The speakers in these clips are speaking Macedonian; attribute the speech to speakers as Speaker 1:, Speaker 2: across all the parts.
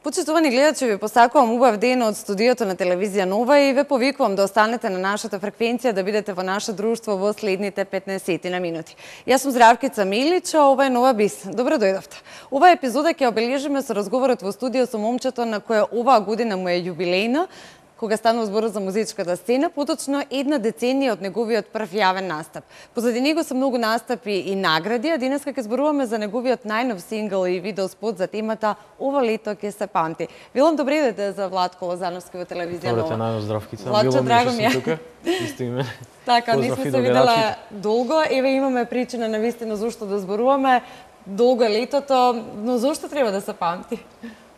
Speaker 1: Почитувани гледачи, ви посакувам убав ден од студиото на телевизија Нова и ве повикувам да останете на нашата фреквенција да бидете во наше друштво во следните 15 на минути. Јас сум Здравкица Милич, а ова е Нова Бис. Добро дојдовте. Оваа епизода ќе обележиме со разговорот во студио со момчето на која оваа година му е јубилејна, кога станува збор за музичката сцена, поточно една деценија од неговиот прв јавен настап. Позади него се многу настапи и награди, а денеска ќе зборуваме за неговиот најнов сингл и видеоспот за темата "Ова лето ќе се памти". Велам добре дојде за Владко Лозановски во телевизија Нова.
Speaker 2: Добре, најно Здравкица.
Speaker 1: Владчо, драго ми е.
Speaker 2: Тука. Исто име.
Speaker 1: Така, не сме се видела долго. Еве имаме причина на вистина зошто да зборуваме. Долго е летото, но зошто треба да се памти?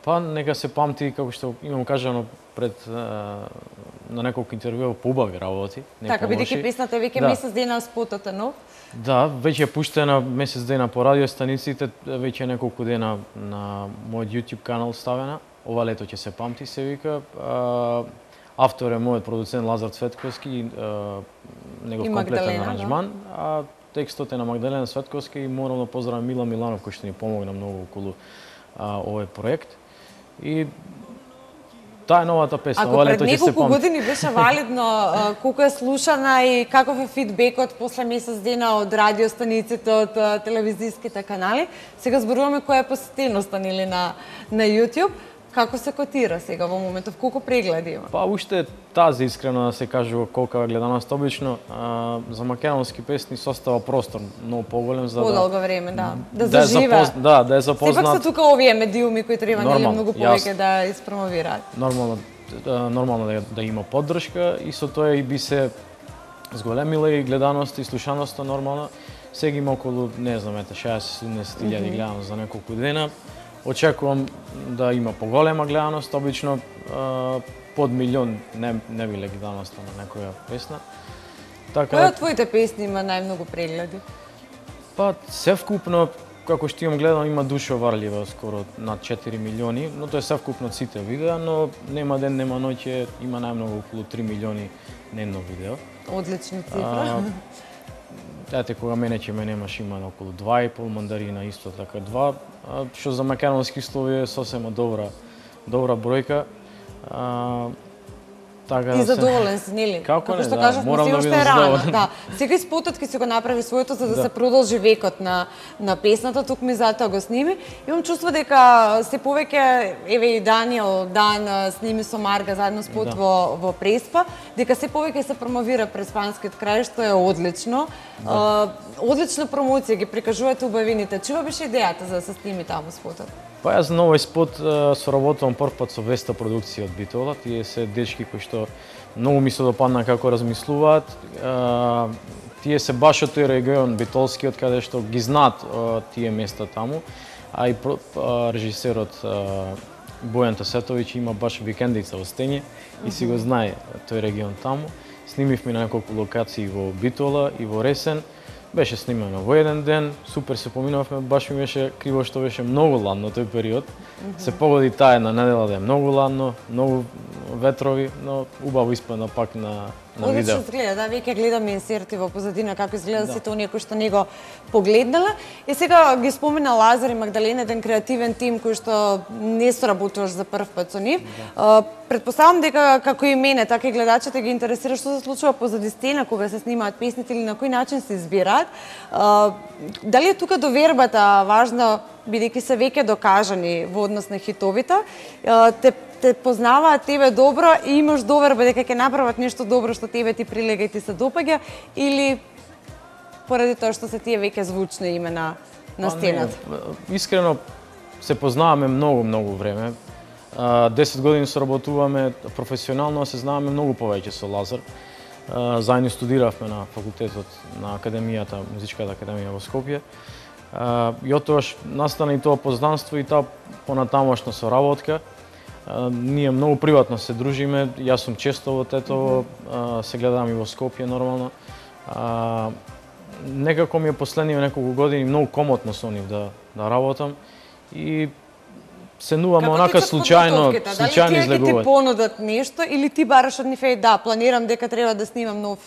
Speaker 2: Па нека се памти, како што имам кажано пред на неколку интервјуа, по убави работи.
Speaker 1: Така, бидејќи песната веќе месец дена спотот е нов.
Speaker 2: Да, веќе е пуштена месец дена по радиостаниците, веќе неколку дена на мојот YouTube канал ставена. Ова лето ќе се памти, се вика. Автор е мојот продуцент Лазар Цветковски, негов комплетен аранжман, а текстот е на Магдалена Цветковска и морам да поздравам Мила Миланов кој што ни помогна многу околу овој проект. И таа е новата песна.
Speaker 1: Ако пред неколку години беше валидно, колку е слушана и каков е фидбекот после месец дена од радиостаниците, од телевизиските канали, сега зборуваме која е посетеноста нели на YouTube. Како се котира сега во моментов? Колку прегледи има?
Speaker 2: Па уште тази, искрено да се кажува, колка гледаност обично. За македонски песни состава простор многу поголем за
Speaker 1: подолго време, да заживе.
Speaker 2: Да е запознат.
Speaker 1: Сепак се тука овие медиуми кои треба нели многу повеќе да испромовираат.
Speaker 2: Нормално да има поддршка и со тоа и би се зголемила и гледаност и слушаноста нормално. Сега има околу, не знам, 60-70 гледаност за неколку дена. Очекувам да има поголема гледаност, обично под милион не биле гледаноста на некоја песна.
Speaker 1: Која од твоите песни има најмногу прегледи?
Speaker 2: Па, севкупно, како што имам гледано, има Душа варлива, скоро над 4 милиони, но тоа е севкупно сите видеа, но нема ден, нема ноќе, има најмногу околу 3 милиони дневно видео.
Speaker 1: Одлична цифра.
Speaker 2: Ете, кога мене немаш има околу 2,5, Мандарина исто така 2, што за македонски слови е сосема добра бројка.
Speaker 1: Ти задоволен си, нели?
Speaker 2: Како
Speaker 1: што кажавме, си уште е рано. Да. Сега и спотот ќе си го направи своето за да се продолжи векот на песната, тук ми затоа го сними. Имам чувство дека се повеќе, еве и Даниел Дан сними со Марга заедно спот во Преспа, дека се повеќе се промовира преспанскиот крај, што е одлично. Одлична промоција, ги прикажувате убавините. Чува беше идејата за да се сними таму спотот?
Speaker 2: Па јас на овој спот соработувам прв пат со Веста продукција од Битола. Тие се дечки кои што многу ми се допадна како размислуваат. Тие се баш од тој регион битолскиот каде што ги знаат тие места таму, а и режисерот Бојан Тасетовиќ има баш викендица во Стење и си го знае тој регион таму. Снимивме на неколку локации во Битола и во Ресен. Беше снимано во еден ден, супер се поминавме, баш ми беше криво што беше многу ладно тој период. Се погоди таа една недела да е многу ладно, многу ветрови, но убаво испадна пак на видео.
Speaker 1: Одлично изгледа, да, веќе гледаме инсерти во позадина како изгледа сите оние кои што не го погледнала. И сега ги спомена Лазар и Магдалена, еден креативен тим кој што не соработуваш за прв пат со нив. Предпоставам дека како и мене, така и гледачите ги интересира што се случува позади сцена кога се снимаат песните или на кој начин се избираат. Дали е тука довербата важна, бидејќи се веќе докажани во однос на хитовите, те познаваат тебе добро и имаш доверба дека ќе направат нешто добро што тебе ти прилега и ти се допаѓа, или поради тоа што се тие веќе звучни име на сцената?
Speaker 2: Искрено се познаваме многу време. 10 години соработуваме професионално, се знаваме многу повеќе со Лазар. Заедно студиравме на факултетот на академијата, музичката академија во Скопје. И оттогаш настана и тоа познанство и таа понатамошна соработка. Ние многу приватно се дружиме, јас сум често во Тетово, се гледам и во Скопје нормално. Некако ми е последниве неколку години многу комотно со нив да работам и се нуваме онака случајно излегуваат.
Speaker 1: Дали тие ти понудат нешто или ти бараш од нив планирам дека треба да снимам нов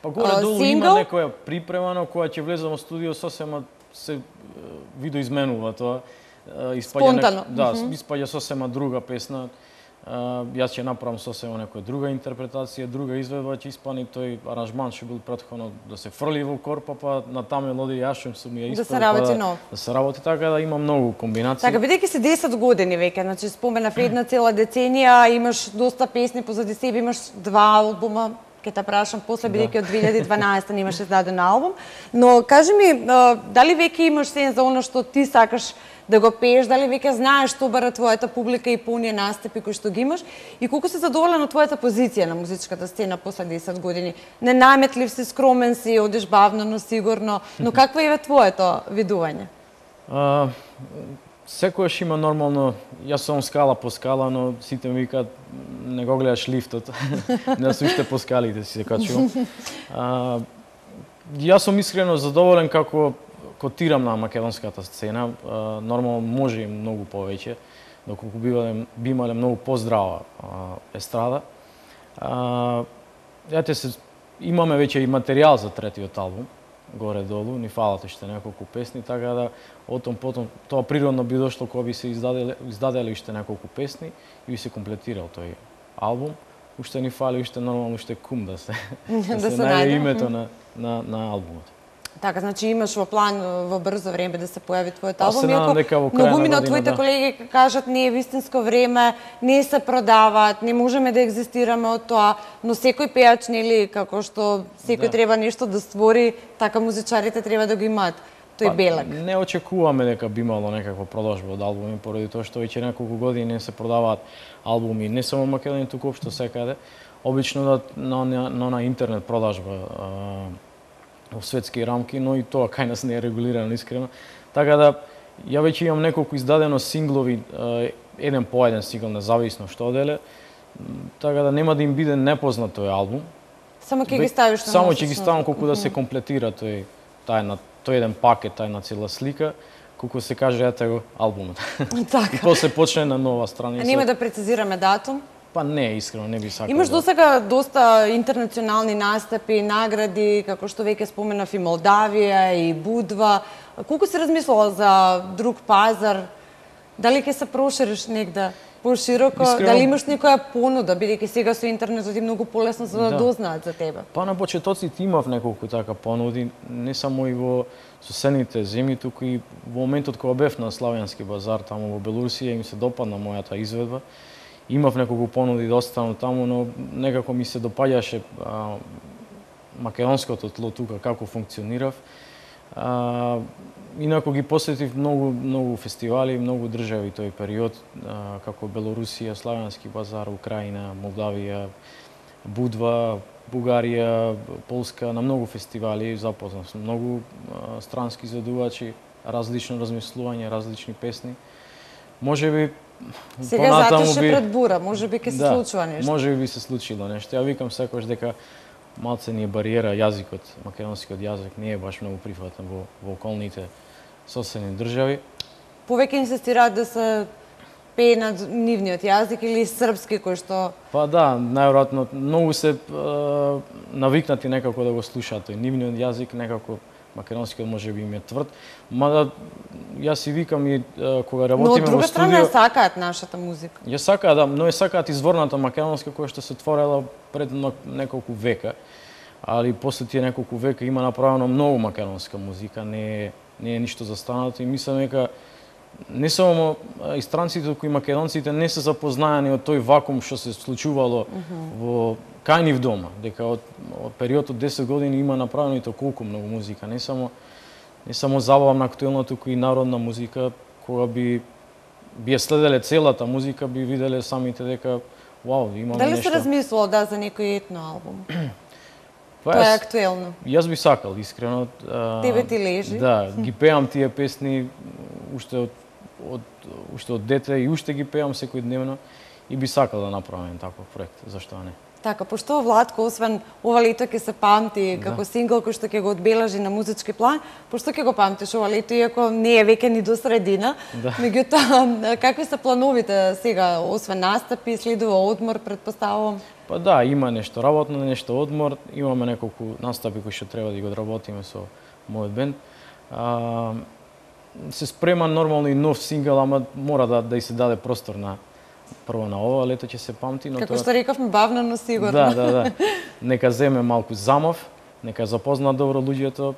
Speaker 2: Па горе-долу има некоја припрема, но која ќе влезам во студио сосема се видоизменува тоа.
Speaker 1: спонтано.
Speaker 2: Испаѓа сосема друга песна. Јас ќе направам сосема некоја друга интерпретација, друга изведба ќе испани, тој аранжман што бил претходно да се фрли во корпа, па на таа мелодија јас што ми ја испади.
Speaker 1: Да се работи нов.
Speaker 2: Да се работи така да има многу комбинации.
Speaker 1: Така, бидејќи се 10 години веќе, значи споменав една цела деценија, имаш доста песни позади себе, имаш 2 албума, ќе те прашам после, бидејќи од 2012 немаш издаден албум, но кажи ми, дали веќе имаш сен за она што ти сакаш да го пееш, дали веќе знаеш што бара твојата публика и по оние настапи кои што ги имаш и колку си задоволен од твојата позиција на музичката сцена после 10 години? Ненаметлив си, скромен си, одиш бавно, но сигурно, но какво е твоето видување?
Speaker 2: Секојаш има нормално, јас сум скала по скала, но сите ми викаат не го гледаш лифтот, не се уште по скалите си се качувам. Јас сум искрено задоволен како котирам на македонската сцена, нормално може и многу повеќе, доколку би имале многу поздрава естрада. Имаме веќе и материјал за третиот албум, горе-долу, ни фалат уште неколку песни, така да отом потом тоа природно би дошло кога би се издаделе уште неколку песни и би се комплетирал тој албум. Уште ни фали уште нормално уште кум да се најде името на албумот.
Speaker 1: Така, значи имаш во план во брзо време да се појави твојот албум.
Speaker 2: Се надам дека во крај на година,
Speaker 1: од твоите колеги кажат не е вистинско време, не се продаваат, не можеме да екзистираме од тоа, но секој пеач, нели, како што секој треба нешто да створи, така музичарите треба да го имаат тој белег.
Speaker 2: Не очекуваме дека би имало некаква продажба од албуми, поради тоа што веќе неколку години не се продаваат албуми, не само во Македонија, туку општо секаде. Обично на интернет продажба во светски рамки, но и тоа кај нас не е регулирано искрено. Така да, ја веќе имам неколку издадено синглови, еден по еден сингл, независно што деле, така да нема да им биде непознат тој албум.
Speaker 1: Само ќе ги ставиш на
Speaker 2: Само ќе ги ставам колку да се комплетира тој еден пакет, тајна цела слика, колку се каже ете го албумот.
Speaker 1: Така.
Speaker 2: И после почне на нова страница.
Speaker 1: Нема да прецизираме датум?
Speaker 2: Па не, искрено не би сакал.
Speaker 1: Имаш досега доста интернационални настапи, награди, како што веќе споменав и Молдавија и Будва. Колку си размислувал за друг пазар? Дали ќе се прошириш негде пошироко? Дали имаш некоја понуда, бидејќи сега со интернетот е многу полесно за да дознаат за тебе?
Speaker 2: Па на почетоците имав неколку така понуди, не само и во соседните земји, туку и во моментот кога бев на Славјански базар таму во Белорусија им се допадна мојата изведба. Имав неколку понуди да останам таму, но некако ми се допаѓаше македонското тло тука, како функционирав. Инако ги посетив многу фестивали, многу држави тој период, како Белорусија, Славјански базар, Украина, Молдавија, Будва, Бугарија, Полска, на многу фестивали запознав сум многу странски изведувачи, различно размислување, различни песни. Можеби
Speaker 1: сега затоше пред бура, можеби ќе се случува нешто.
Speaker 2: Можеби би се случило нешто. Ја викам секогаш дека малце ни е бариера јазикот, македонскиот јазик не е баш многу прифатен во околните соседни држави.
Speaker 1: Повеќе инсистираат да се пее на нивниот јазик или српски кој што...
Speaker 2: Па да, најверојатно многу се навикнати некако да го слушаат тој нивниот јазик, некако македонскиот може би им е тврд, мада јас си викам и кога работиме во студио... Но од друга страна ја
Speaker 1: сакаат нашата музика.
Speaker 2: Ја сакаат, да, но ја сакаат изворната македонска која што се творела пред неколку века. Али после тие неколку века има направено многу македонска музика, не е ништо застанато и мислам дека не само и странците, туку и македонците не се запознаени од тој вакуум што се случувало во кај нив дома, дека од период од 10 години има направено и толку многу музика, не само забавна актуелна, туку и народна музика, кога би ја следеле целата музика, би виделе самите дека вау, имаме нешто.
Speaker 1: Дали се размислувал за некој етно албум? Тоа е актуелно.
Speaker 2: Јас би сакал, искрено.
Speaker 1: Тебе ти лежи.
Speaker 2: Да, ги пеам тие песни уште од дете и уште ги пеам секојдневно и би сакал да направам таков проект, зашто не.
Speaker 1: Така, пошто Владко, освен ова лето ќе се памти како сингл кој што ќе го одбележи на музички план, пошто ќе го памтиш ова лето, иако не е веќе ни до средина. Меѓутоа, какви се плановите сега, освен настапи, следува одмор, предпоставувам?
Speaker 2: Па да, има нешто работно, нешто одмор, имаме неколку настапи кои што треба да ги одработиме со мојот бенд. се спрема нормално и нов сингл, ама мора да и се даде простор на прво на ова лето ќе се памти, но
Speaker 1: како што рековме, бавно но сигурно.
Speaker 2: Да. Нека земе малку замав, нека запозна добро луѓето,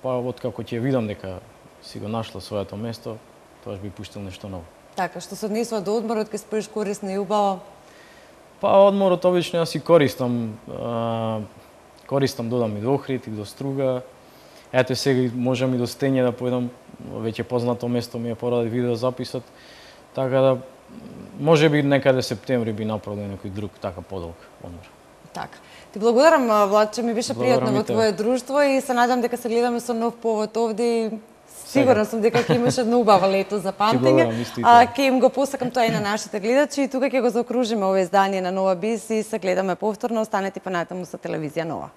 Speaker 2: па откако ќе видам дека си го нашла своето место, тоа би пуштил нешто ново.
Speaker 1: Така, што се однесува до одморот, ќе споиш корисно и убаво?
Speaker 2: Па одморот обично ја си користам додам и до Охрид и до Струга. Ете сега можам и до Стење да појдам, веќе познато место ми е поради видеозаписот, така да можеби некаде септември би направил некој друг така подолг одмор.
Speaker 1: Така. Ти благодарам, Владче, ми беше пријатно во твое друштво и се надам дека се гледаме со нов повод овде и сигурна сум дека ќе имаш едно убаво лето за памтење. Ќе им го посакам тоа и на нашите гледачи и тука ќе го заокружиме ова издание на Нова Биз и се гледаме повторно. Останете па натаму со телевизија Нова.